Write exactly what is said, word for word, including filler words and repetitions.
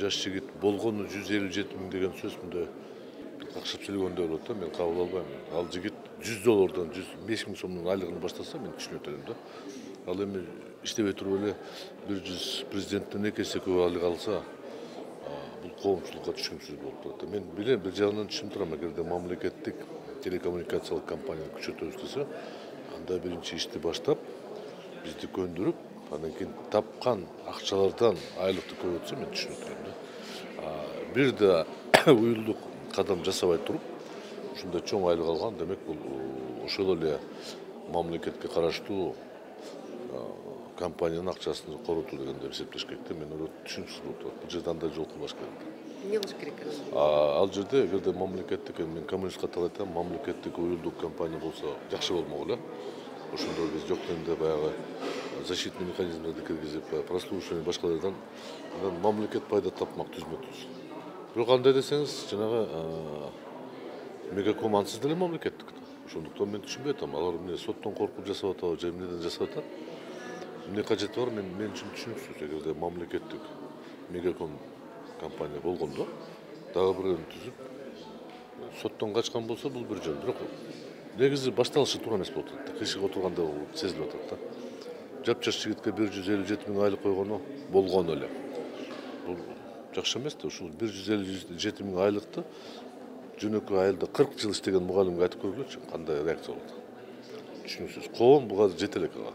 жаш жигит болгону жүз элүү жети миң деген сөз мындай какшап сүйлөгөндөй болот да, мен кабыл албайм. Ал жигит жүз доллардан жүз беш миң сомдон айлыгын баштаса мен түшүнөт элем да. Ал эми иштебей туруп эле бир жүз президенттен эки эсе көп айлык алса, бул коомчулукка түшүнүксүз болуп турат. Мен билем, бир жагынан түшүнүп турам, эгерде мамлекеттик телекоммуникациялык компанияны күчөтөбүз десе, анда биринчи ишти баштап, бизди көндүрүп, андан кийин тапкан акчалардан айлыкты көбөйтсө мен түшүнөт элем да. Бир да уюлдук кадам жасабай туруп, ушундай чоң айлык алган, демек бул ошол эле мамлекетке караштуу компаниянын акчасын коротуу дегенди эсептеш керек да. Мен ойлойм, түшүнүксүз болуп турат. Бул жерде андай жол кылбаш керек. Эмне кылыш керек? Ал жерде эгерде мамлекеттик, мен коммунист катары айтам, мамлекеттик уюлдук компания болсо жакшы болмок эле. Ошондо биз жок дегенде баягы защитный механизмдерди киргизип, прослушивание башкалардан мамлекет пайда тапмак түзмө түз. Бирок андай десеңиз, жанагы Мегаком ансыз деле мамлекеттик. Ошондуктан мен түшүнбөй атам, алар эмне соттон коркуп жасап атабы, же эмнеден жасап атат? Эмне кажети бар, мен мен үчүн түшүнүксүз. Эгерде мамлекеттик Мегаком компания болгондо, дагы бирөөнү түзүп, соттон качкан болсо бул бир жөн. Бирок негизи башталышы туура эмес болуп атат. Кыйшыгып отурганда сезилип атат да. Жапжаш жигитке бир жүз элүү жети миң айлык койгону болгону эле. Бул жакшы эмес да. Ушул бир жүз элүү жети миң айлыкты жөнөкөй айылда кырк жыл иштеген мугалимге айтып көргүлөчү, кандай реакция болот. Түшүнүксүз. Коом буга жете элек ага.